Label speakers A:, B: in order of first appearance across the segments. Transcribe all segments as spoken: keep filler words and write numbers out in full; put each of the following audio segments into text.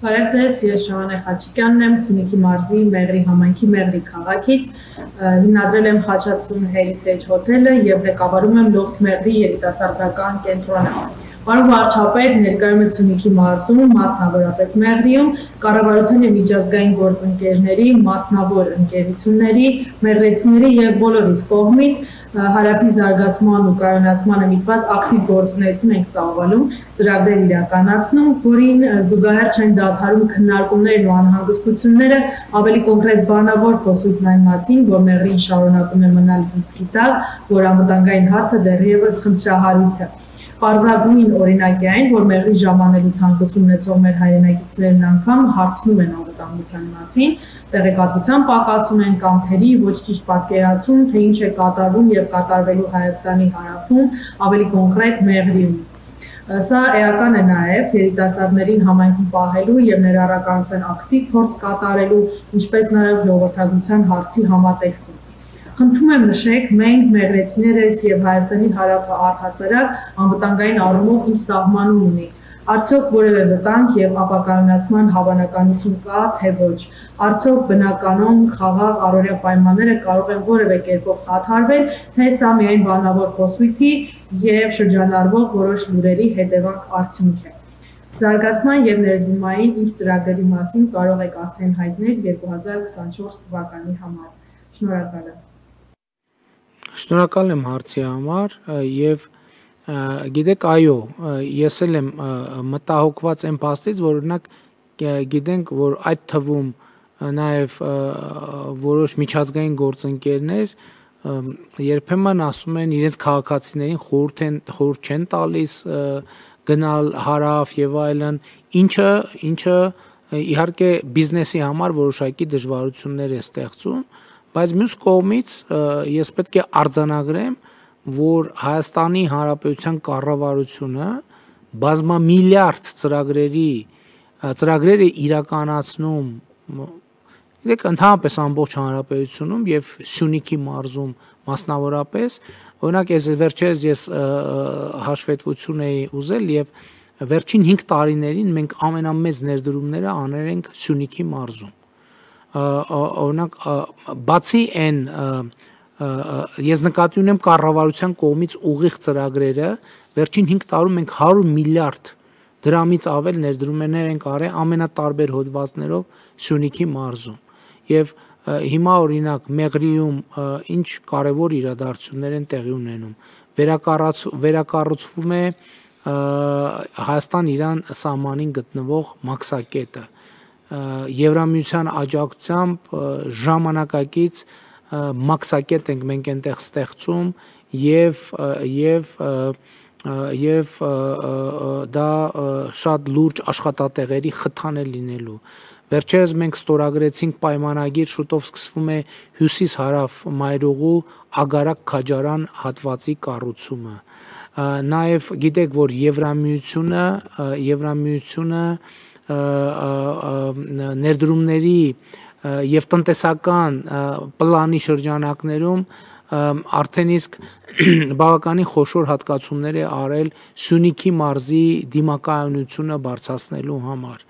A: Բարև ձեզ, ես Շահանե Խաչիկյանն եմ, Սյունիքի մարզի Մեղրի համայնքի Մեղրի քաղաքից, հիմնադրել եմ Խաչատուն Heritage հոթելը և ղեկավարում եմ Loft Մեղրի երիտասարդական կենտրոնը։ Պարոն վարչապետ, ներկայումս Սյունիքի մարզում, մասնավորապես Մեղրիում, կառավարության և միջազգային գործընկերների, մասնավոր ընկերությունների, մեղրեցիների և բոլորիս կողմից հարաբի զարգացման ու կայունացմանը միտված ակտիվ գործունեություն ենք ծավալում, ծրագրեր իրականացնում, որին զուգահեռ չեն դադարում քննարկումներն ու անհանգստությունները, ավելի կոնկրետ բանավոր խոսույթն այն մասին, որ Մեղրին շարունակում է մնալ ռիսկի տակ, որ անվտանգային հարցը դեռևս խնդրահարույց է։ Պարզագույն օրինակ է այն, որ Մեղրի ժամանելու ցանկություն ունեցող մեր հայրենակիցներն անգամ հարցնում են անվտանգության մասին, տեղեկատվության պակասում են կամ թերի ոչ ճիշտ պատկերացում, թե ինչ է կատարվում և կատարվելու Հայաստանի հարավում, ավելի կոնկրետ Մեղրիում։ Սա էական է նաև երիտասարդներին համայնքում պահելու և ներառականության ակտիվ փորձ կատարելու, ինչպես նաև ժողովրդագրության հարցի համատեքստում։ Խնդրում եմ նշեք, մենք մեղրեցիներս և Հայաստանի հարավը առհասարակ անվտանգային առումով ինչ սահմանում ունի, արդյոք որևէ վտանգ և ապակայունացման հավանականություն կա, թե ոչ, արդյոք բնականոն, խաղաղ, առօրյա պայմանները կարող են որևէ կերպով խաթարվել, թե սա միայն բանավոր խոսույթի և շրջանառվող որոշ լուրերի հետևանք արդյունք է։ Զարգացման և ներդրումային ինչ ծրագրերի մասին կարող եք արդեն հայտնել երկու հազար քսանչորս թվականի համար։ Շնորհակալ եմ։
B: Շնորհակալ եմ հարցի համար և գիտեք, այո, ես էլ եմ մտահոգված այն փաստից, որ օրինակ գիտենք, որ այդ թվում նաև որոշ միջազգային գործընկերներ երբեմն ասում են իրենց քաղաքացիներին խորհուրդ են խորհուրդ չեն տալիս գնալ հարավ եւ այլն, ինչը ինչը իհարկե բիզնեսի համար որոշակի դժվարություններ է ստեղծում, բայց մյուս կողմից ես պետք է արձանագրեմ, որ Հայաստանի Հանրապետության կառավարությունը բազմամիլիարդ ծրագրերի ծրագրեր է իրականացնում, գիտեք, ընդհանրապես ամբողջ հանրապետությունում եւ Սյունիքի մարզում մասնավորապես, օրինակ ես վերջերս ես հաշվետվություն էի ուզել եւ վերջին հինգ տարիներին մենք ամենամեծ ներդրումները անել ենք Սյունիքի մարզում։ Օրինակ բացի այն ես նկատի ունեմ կառավարության կողմից ուղիղ ծրագրերը, վերջին հինգ տարում մենք հարյուր միլիարդ դրամից ավել ներդրումներ ենք արել ամենատարբեր հոդվածներով Սյունիքի մարզում։ Եվ հիմա օրինակ Մեղրիում ինչ կարևոր իրադարձություններ են տեղի ունենում։ Վերակառուցվում է Հայաստան-Իրան սահմանին գտնվող մաքսակետը։ Եվրամիության աջակցությամբ ժամանակակից մաքսակետ ենք մենք այնտեղ ստեղծում եւ եւ եւ դա շատ լուրջ աշխատատեղերի խթան է լինելու։ Վերջերս մենք ստորագրեցինք պայմանագիր, շուտով սկսվում է հյուսիս-հարավ մայրուղու Ագարակ-Քաջարան հատվածի կառուցումը։ Նաև գիտեք, որ Եվրամիությունը Եվրամիությունը ներդրումների եւ տնտեսական պլանի շրջանակներում արդեն իսկ բավականին խոշոր հատկացումներ է արել Սյունիքի մարզի դիմակայունությունը բարձրացնելու համար։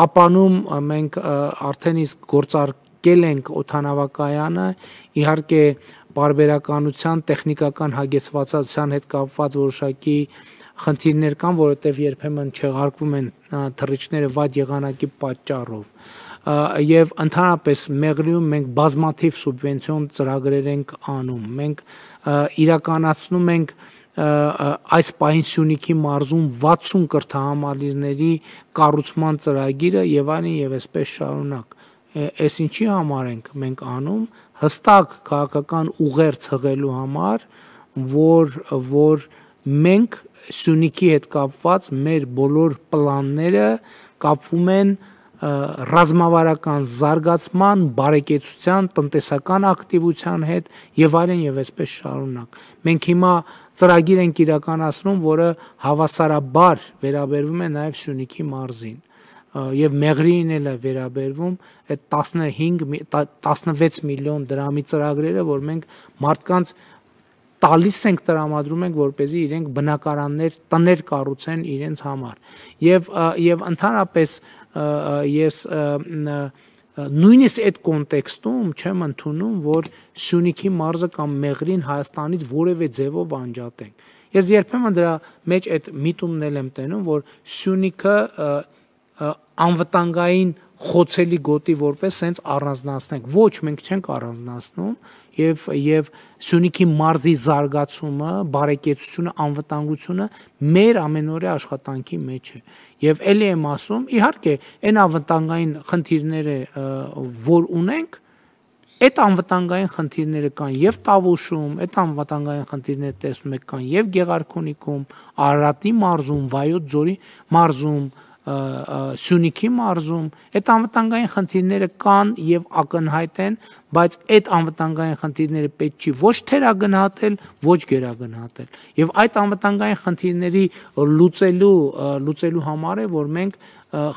B: Կապանում մենք արդեն իսկ գործարկել ենք օդանավակայանը, իհարկե պարբերականության, տեխնիկական հագեցվածության հետ կապված որոշակի խնդիրներ կան, որովհետև երբեմն չեղարկվում են թռիչքները վատ եղանակի պատճառով։ Եվ ընդհանրապես Մեղրիում մենք բազմաթիվ սուբվենցիոն ծրագրեր ենք անում։ Մենք իրականացնում ենք այս պահին Սյունիքի մարզում վաթսուն կրթահամալիրների կառուցման ծրագիրը եւ այլն եւ այսպես շարունակ։ Այս ինչի համար ենք մենք անում, հստակ քաղաքական ուղերձ հղելու համար, որ որ մենք Սյունիքի հետ կապված մեր բոլոր պլանները կապվում են ռազմավարական զարգացման, բարեկեցության, տնտեսական ակտիվության հետ եւ այլն եւ այսպես շարունակ։ Մենք հիմա ծրագիր ենք իրականացնում, որը հավասարաբար վերաբերվում է նաեւ Սյունիքի մարզին եւ Մեղրիին էլ է վերաբերվում այդ տասնհինգ տասնվեց միլիոն դրամի ծրագրերը, որ մենք մարդկանց տալիս ենք, տրամադրում ենք, որպեսզի իրենք բնակարաններ, տներ կառուցեն իրենց համար։ Եվ եւ ընդհանրապես ես նույնիսկ այդ կոնտեքստում չեմ ընդունում, որ Սյունիքի մարզը կամ Մեղրին Հայաստանից որևէ ձևով անջատենք։ Ես երբեմն դրա մեջ այդ միտումն էլ եմ տենում, որ Սյունիքը անվտանգային խոցելի գոտի որպես սենց առանձնացնենք։ Ոչ, մենք չենք առանձնացնում եւ եւ Սյունիքի մարզի զարգացումը, բարեկեցությունը, անվտանգությունը մեր ամենօրյա աշխատանքի մեջ է։ Եվ ելի եմ ասում, իհարկե, այն անվտանգային խնդիրները, որ ունենք, այդ անվտանգային խնդիրները կան եւ Տավուշում, այդ անվտանգային խնդիրները տեսնում եք կան եւ Գեղարքունիքում, Արարատի մարզում, Վայոց ձորի մարզում, Սյունիքի մարզում, այդ անվտանգային խնդիրները կան եւ ակնհայտ են, բայց այդ անվտանգային խնդիրները պետք չի ոչ թերագնահատել, ոչ գերագնահատել։ Եվ այդ անվտանգային խնդիրների լուծելու լուծելու համար է, որ մենք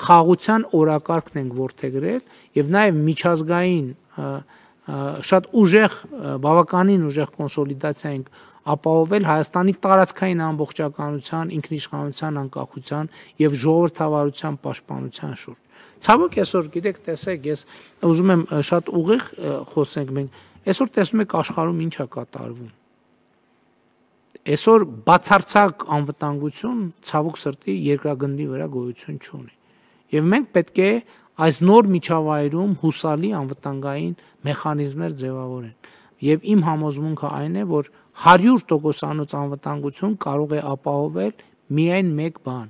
B: խաղաղության օրակարգն ենք որդեգրել եւ նաեւ միջազգային շատ ուժեղ, բավականին ուժեղ կոնսոլիդացիա ենք ապահովել Հայաստանի տարածքային ամբողջականության, ինքնիշխանության, անկախության եւ ժողովրդավարության պաշտպանության շուրջ։ Ցավոք այսօր գիտեք, տեսեք, ես ուզում եմ շատ ուղիղ խոսենք մենք, այսօր տեսնում եք աշխարհում ինչ է կատարվում։ Այսօր բացարձակ անվտանգություն ցավոք սրտի երկրագնդի վրա գոյություն չունի։ Եվ մենք պետք է այս նոր միջավայրում հուսալի անվտանգային մեխանիզմներ ձևավորեն։ Եվ իմ համոզմունքը այն է, որ հարյուր տոկոսանոց անվտանգություն կարող է ապահովել միայն մեկ բան՝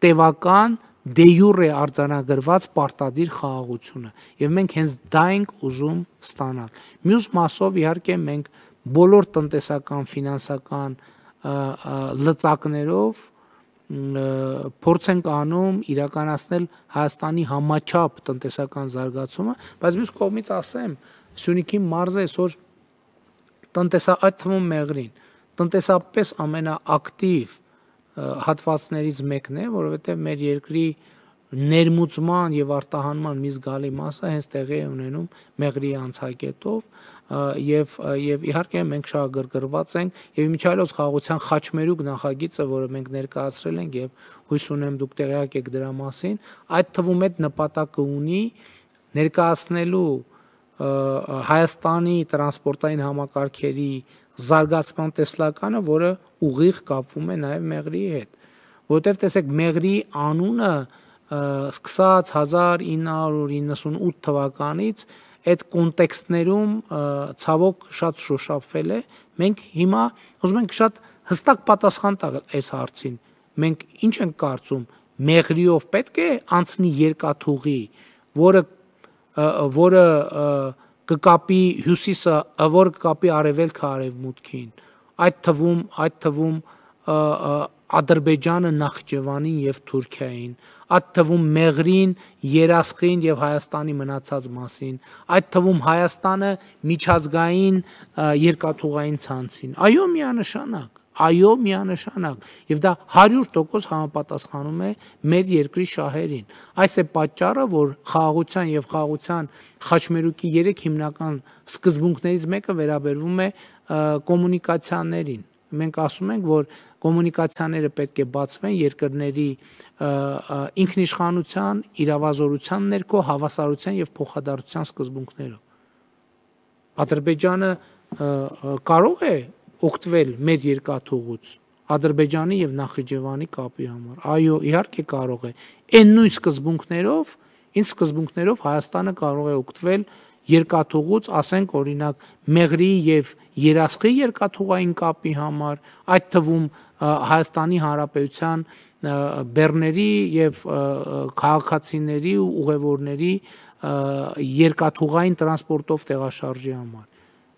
B: տևական դե յուրե արձանագրված պարտադիր խաղաղությունը։ Եվ մենք հենց դա ենք ուզում ստանալ։ Մյուս մասով իհարկե մենք բոլոր տնտեսական, ֆինանսական լծակներով փորձ ենք անում իրականացնել Հայաստանի համաչափ տնտեսական զարգացումը, բայց մյուս կողմից ասեմ, Սյունիքի մարզը այսօր տնտեսա այդ թվում Մեղրին, տնտեսապես ամենաակտիվ հատվածներից մեկն է, որովհետև մեր երկրի ներմուծման եւ արտահանման մի զգալի մասը հենց տեղի է ունենում Մեղրի անցակետով եւ եւ իհարկե մենք շահագրգռված ենք եւ միջալոց խաղաղության խաչմերուկ նախագիծը, որը մենք ներկայացրել ենք եւ հույս ունեմ դուք տեղյակ եք դրա մասին, այդ թվում այդ նպատակը ունի ներկայացնելու Հայաստանի տրանսպորտային համակարգերի զարգացման տեսլականը, որը ուղիղ կապվում է նաեւ Մեղրիի հետ, որովհետեւ տեսեք Մեղրիի անունը սկսած հազար ինը հարյուր իննսունութ թվականից այդ կոնտեքստներում ցավոք շատ շոշափվել է։ Մենք հիմա ուզում ենք շատ հստակ պատասխան տալ այս հարցին։ Մենք ինչ ենք կարծում, Մեղրիով պետք է անցնի երկաթուղի, որը որը կկապի հյուսիսը, որը կկապի արևելքը արևմուտքին, այդ թվում այդ թվում Ադրբեջանը Նախճեվանին եւ Թուրքիային, այդ թվում Մեղրին, Երասխին եւ Հայաստանի մնացած մասին, այդ թվում Հայաստանը միջազգային երկաթուղային ցանցին։ Այո, միանշանակ, այո, միանշանակ, եւ դա հարյուր տոկոս համապատասխանում է մեր երկրի շահերին։ Այս է պատճառը, որ խաղաղության եւ խաղաղության խաչմերուկի երեք հիմնական սկզբունքներից մեկը վերաբերվում է կոմունիկացիաներին։ Մենք ասում ենք, որ կոմունիկացիաները պետք է բացվեն երկրների ինքնիշխանության, իրավազորության ներքո հավասարության եւ փոխադարձության սկզբունքներով։ Ադրբեջանը կարող է օգտվել մեր երկաթուղուց Ադրբեջանի եւ Նախիջևանի կապի համար։ Այո, իհարկե կարող է։ Այն նույն սկզբունքներով, ինչ սկզբունքներով Հայաստանը կարող է օգտվել երկաթուղուց, ասենք օրինակ Մեղրիի եւ Երասխի երկաթուղային կապի համար, այդ թվում Հայաստանի Հանրապետության բեռների եւ քաղաքացիների ու ուղևորների երկաթուղային տրանսպորտով տեղաշարժի համար։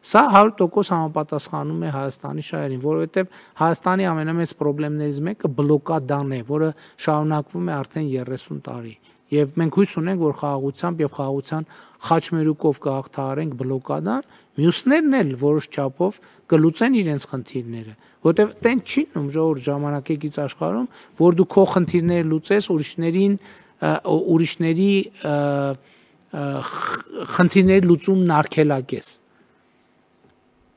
B: Սա հարյուր տոկոս համապատասխանում է Հայաստանի շահերին, որովհետև Հայաստանի ամենամեծ խնդիրներից մեկը բլոկադան է, որը շարունակվում է արդեն երեսուն տարի։ Եվ մենք հույս ունենք, որ խաղաղությամբ եւ խաղաղության խաչմերուկով կհաղթահարենք բլոկադան, մյուսներն էլ որոշ չափով կլուծեն իրենց խնդիրները, որովհետև տեն չի նում ժողովուրդ ժամանակակից աշխարհում, որ դու քո խնդիրները լուծես, ուրիշներին ուրիշների խնդիրների լուծումն արգելակես։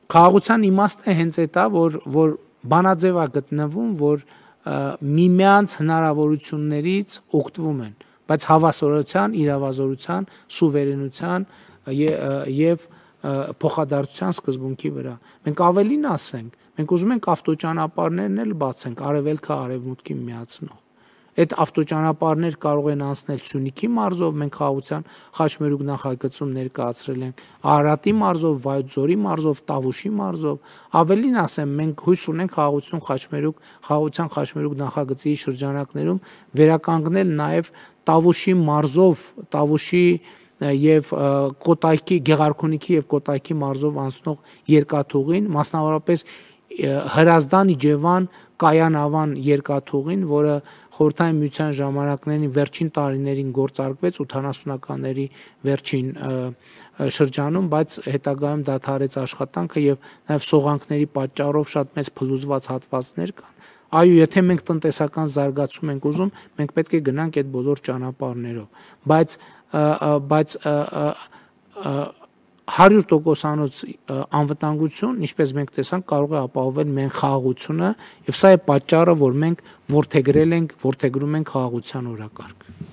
B: Խաղաղության իմաստը հենց այդ է, որ որ բանաձև է գտնվում, որ միմյանց հնարավորություններից օգտվում են, բայց հավասարության, իրավազորության, սուվերենության եւ փոխադարձության սկզբունքի վրա։ Մենք ավելին ասենք, մենք ուզում ենք ավտոճանապարհներն էլ բացենք, արևելքը արևմուտքին միացնող։ Այդ ավտոճանապարհներ կարող են անցնել Սյունիքի մարզով, մենք խաղաղության խաչմերուկ նախագծում ներկայացրել ենք, Արարատի մարզով, Վայոց-Ձորի մարզով, Տավուշի մարզով, ավելին ասեմ, մենք հույս ունենք խաղաղություն խաչմերուկ, խաղաղության խաչմերուկ նախագծի շրջանակներում վերականգնել նաև Տավուշի մարզով, Տավուշի եւ Կոտայքի, Գեղարքունիքի եւ Կոտայքի մարզով անցնող երկաթուղին, մասնավորապես Հրազդան Իջևան Կայանավան երկաթուղին, որը խորհրդային միության ժամանակներին վերջին տարիներին գործարկվեց ութանասունականների վերջին շրջանում, բայց հետագայում դադարեց աշխատանքը եւ նաեւ սողանքների պատճառով շատ մեծ փլուզված հատվածներ կան։ Այո, եթե մենք տնտեսական զարգացում ենք ուզում, մենք պետք է գնանք այդ բոլոր ճանապարհներով, բայց բայց հարյուր տոկոսանոց անվտանգություն, ինչպես մենք տեսանք, կարող է ապահովել միայն խաղաղությունը, եւ սա է պատճառը, որ մենք որդեգրել ենք, որդեգրում ենք խաղաղության օրակարգը։